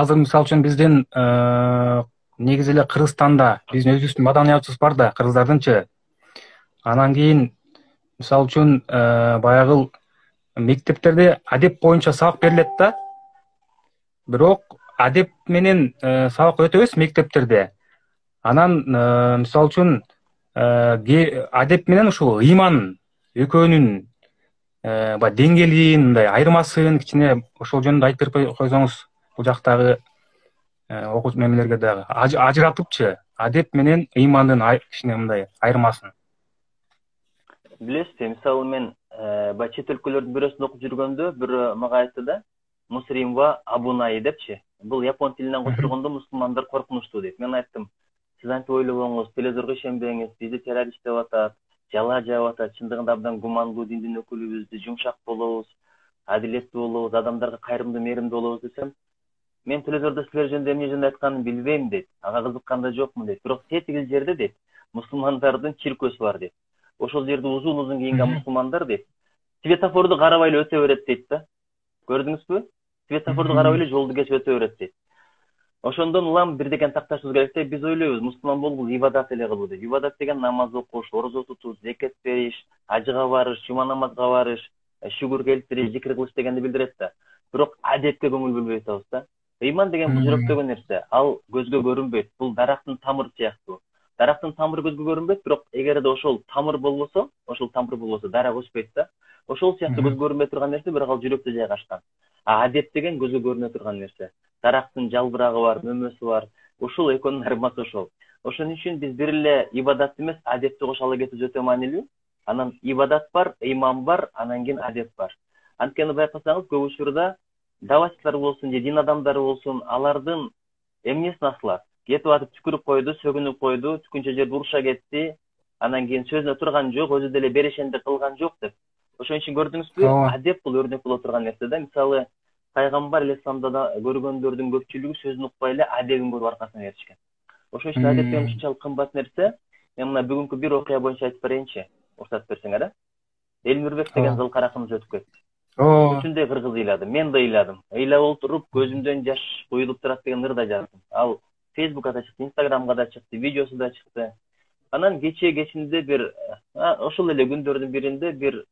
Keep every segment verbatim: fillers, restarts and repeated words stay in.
азыр мисалы үчүн биздин негизи эле Кыргызстанда биздин өзүбүздүн маданиятыбыз бар да, кыргыздардынчы. Анан кийин мисалы үчүн баягы мектептерде адеп боюнча сабак берилет да. Бирок адеп менен сабак өтөбүз мектептерде. Анан мисалы үчүн адеп менен ушул ыйман экөөнүн баягы деңгээлин, мындай айырмасын кичине ошол жөнүндө айтып берип койсоңуз, бул жактагы окуучу мемелерге дагы ажыратыпчы адеп менен ыймандын кичине мындай айырмасын. Билесизби, мисалы мен баягы чет өлкөлөрдүн бирөөсүндө окуп жүргөндө бирөө мага айтты да, мусримва абунай депчи. Бул япон тилинен которгондо мусулмандар коркунучтуу дейт. Мен айттым, сиз антип ойлобоңуз, телевизорго ишенбеңиз, бизди террорист деп атат, жала жаап атат. Чындыгында абдан гумандуу диндин өкүлүбүз, биз жумшак болобуз, адилеттүү болобуз, адамдарга кайрымдуу, мээримдүү болобуз десем, мен телевизордо силер жөнүндө эмне жөнүндө айтканын билбейм дейт. Ага кызыккан да жокмун дейт. Бирок тетиги жерде дейт, мусулмандардын чиркөөсү бар дейт. Ошол жерде узун-узун кийинген мусулмандар дейт, светофорду карабай эле өтө берет дейт да. Көрдүңүзбү? Светофорду карабай эле жолду кесип өтө берет дейт. Ошондон улам бир деген такташыбыз керек да, биз ойлойбуз, мусулман болуу бул ибадат эле кылуу деп. Ибадат деген намаз окуш, орозо тутуш, зекет бериш, ажыга барыш, жума намазга барыш, шүгүр келтириш, зикир кылыш дегенди билдирет да. Бирок адепке көңүл бөлбөй атабыз да. Ыйман деген бул жүрөктөгү нерсе, ал көзгө көрүнбөйт. Бул дарактын тамыры сыяктуу. Дарактын тамыры көзгө көрүнбөйт, бирок эгерде ошол тамыр болбосо, ошол тамыр болбосо дарак өспөйт да. Ошол сыяктуу көзгө көрүнбөй турган нерсе, бирок ал жүрөктө жайгашкан. А адеп деген көзгө көрүнө турган нерсе. Дарактын жалбырагы бар, мөмөсү бар. Ушул экөөнүн айырмасы ошол. Ошон үчүн биз бир эле ибадат эмес, адепти кошо ала кетүү өтө маанилүү. Анан ибадат бар, ыйман бар, анан кийин адеп бар. Анткени байкасаңыз, көп учурда давачтар болсун же дин адамдары болсун, алардын эмнесин асылат? Кетип атып түкүрүп койду, сөгүнүп койду, түкүнчө жерде уруша кетти. Анан кийин сөзүнө турган жок, өзү деле берешендик кылган жок деп. Ошон үчүн көрдүңүзбү, адеп бул өрнөк боло турган нерсе да. Мисалы, пайгамбар алейхисаламда да көргөндөрдүн көпчүлүгү сөзүн укпай эле адебин көрүп аркасына беришкен. Ошон үчүн адеп деген ушунчалык кымбат нерсе. Мен мына бүгүнкү бир окуя боюнча айтып берейинчи, уруксат берсеңер, э? Элмирбек деген зылкар акыныбыз өтүп кетти. Үчүндөй кыргыз ыйлады, мен да ыйладым. Ыйлап отуруп көзүмдөн жаш куюлуп турат деген ырда жаздым. Ал Фейсбукка да чыкты, Инстаграмга да чыкты, видеосу да чыкты. Анан кечээ кечинде бир ошол эле күндөрдүн биринде бир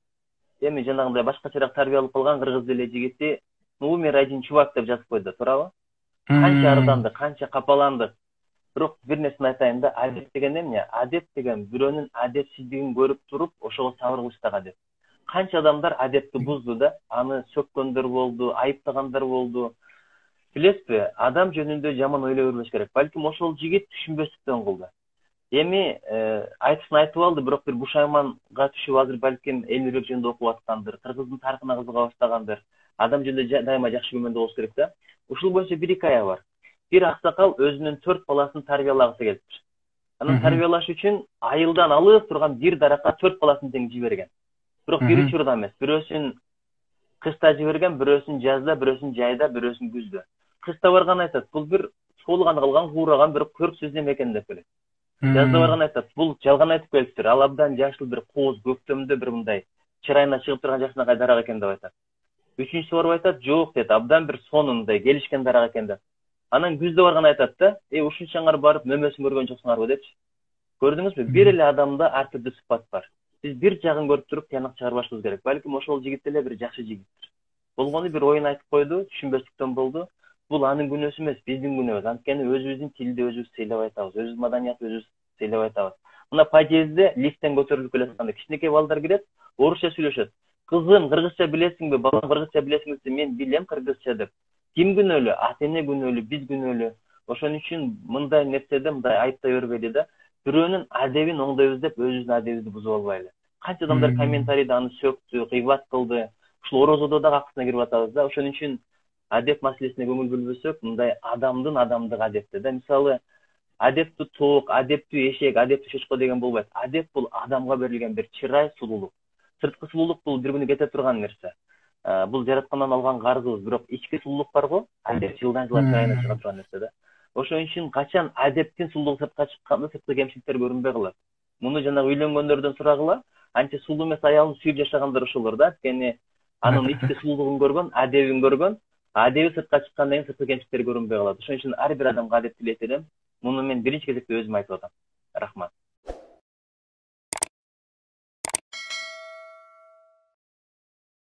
эми жанагындай башкачараак тарбия алып калган кыргыз эле жигити умер один чувак деп жазып койду, туурабы? Канча ардандык, канча капаландык. Бирок бир нерсени айтайын да, адеп деген эмне? Адеп деген бирөөнүн адепсиздигин көрүп туруп, ошого сабыр кылыштагы адеп. Канча адамдар адепти бузду да, аны сөккөндөр болду, айыптагандар болду. Билесизби, адам жөнүндө жаман ойлой бербеш керек. Балким ошол жигит түшүнбөстүктөн кылды. Эми айтысын айтып алды, бирок бир бушайманга түшүп азыр балким Элмирбек жөнүндө окуп аткандыр, кыргыздын тарыхына кызыга баштагандыр. Адам жөнүндө дайыма жакшы күмөндө болуш керек да. Ушул боюнча бир икая бар. Бир аксакал өзүнүн төрт баласын тарбиялагысы келиптир. Анан тарбиялаш үчүн айылдан алып турган бир даракка төрт баласын тең жиберген. Бирок бир учурда эмес, бирөөсүн кышта жиберген, бирөөсүн жазда, бирөөсүн жайда, бирөөсүн күздө. Кышта барган айтат, бул бир суулганы калган, куураган бир көрксүз неме экен деп келет. Жазда барган айтат, бул жалган айтып келиптир. Ал абдан жашыл бир кооз көктөмдө бир мындай чырайына чыгып турган жакшынакай дарак экен деп айтат. Үчүнчүсү барып айтат, жок дейт, абдан бир сонундай келишкен дарак экен деп. Анан күздө барган айтат да, э ушунчаңар барып мөмөсүн көргөн жоксуңарбы депчи. Көрдүңүзбү? Бир эле адамда ар түрдүү сыпат бар. Биз бир жагын көрүп туруп тыянак чыгарбашыбыз керек. Балким ошол жигит эле бир жакшы жигиттир. Болгону бир оюн айтып койду, түшүнбөстүктөн болду. Бул анын күнөөсү эмес, биздин күнөөбүз. Анткени өзүбүздүн тилди өзүбүз сыйлап айтабыз, өзүбүздүн маданиятты өзүбүз сыйлап айтабыз. Мына подъездде лифттен көтөрүлүп келатканда кичинекей балдар кирет, орусча сүйлөшөт. Кызым, кыргызча билесиңби? Балам, кыргызча билесиңби десе, мен билем кыргызча деп. Ким күнөөлүү? Ата эне күнөөлүү, биз күнөөлүү. Ошон үчүн мындай нерседе мындай айыптай бербейли да. Бирөөнүн адебин оңдойбуз деп өзүбүздүн адебибизди бузуп албайлы. Канча адамдар комментарийде аны сөктү, кыйбат кылды. Ушул орозодо да акысына кирип атабыз да. Ошон үчүн адеп маселесине көңүл бөлбөсөк, мындай адамдын адамдык адепти да. Мисалы, адептүү тоок, адептүү эшек, адептүү чочко деген болбойт. Адеп бул адамга берилген бир чырай, сулуулук. Сырткы сулуулук бул бир күнү кете турган нерсе. Бул жараткандан алган карзыбыз, бирок ички сулуулук бар го, адеп жылдан жылга чырайына чыга турган нерсе да. Ошон үчүн качан адептин сулуулугу сыртка чыкканда сырткы кемчиликтер көрүнбөй калат. Муну жана үйлөнгөндөрдөн сурагыла, анча сулуу эмес аялын сүйүп жашагандар ошолор да. Анткени анын ички сулуулугун көргөн, адебин көргөн, адеби сыртка чыккандан кийин сырткы кемчиликтер көрүнбөй калат. Ошон үчүн ар бир адамга адеп тилейт элем. Муну мен биринчи кезекте өзүм айтып атам.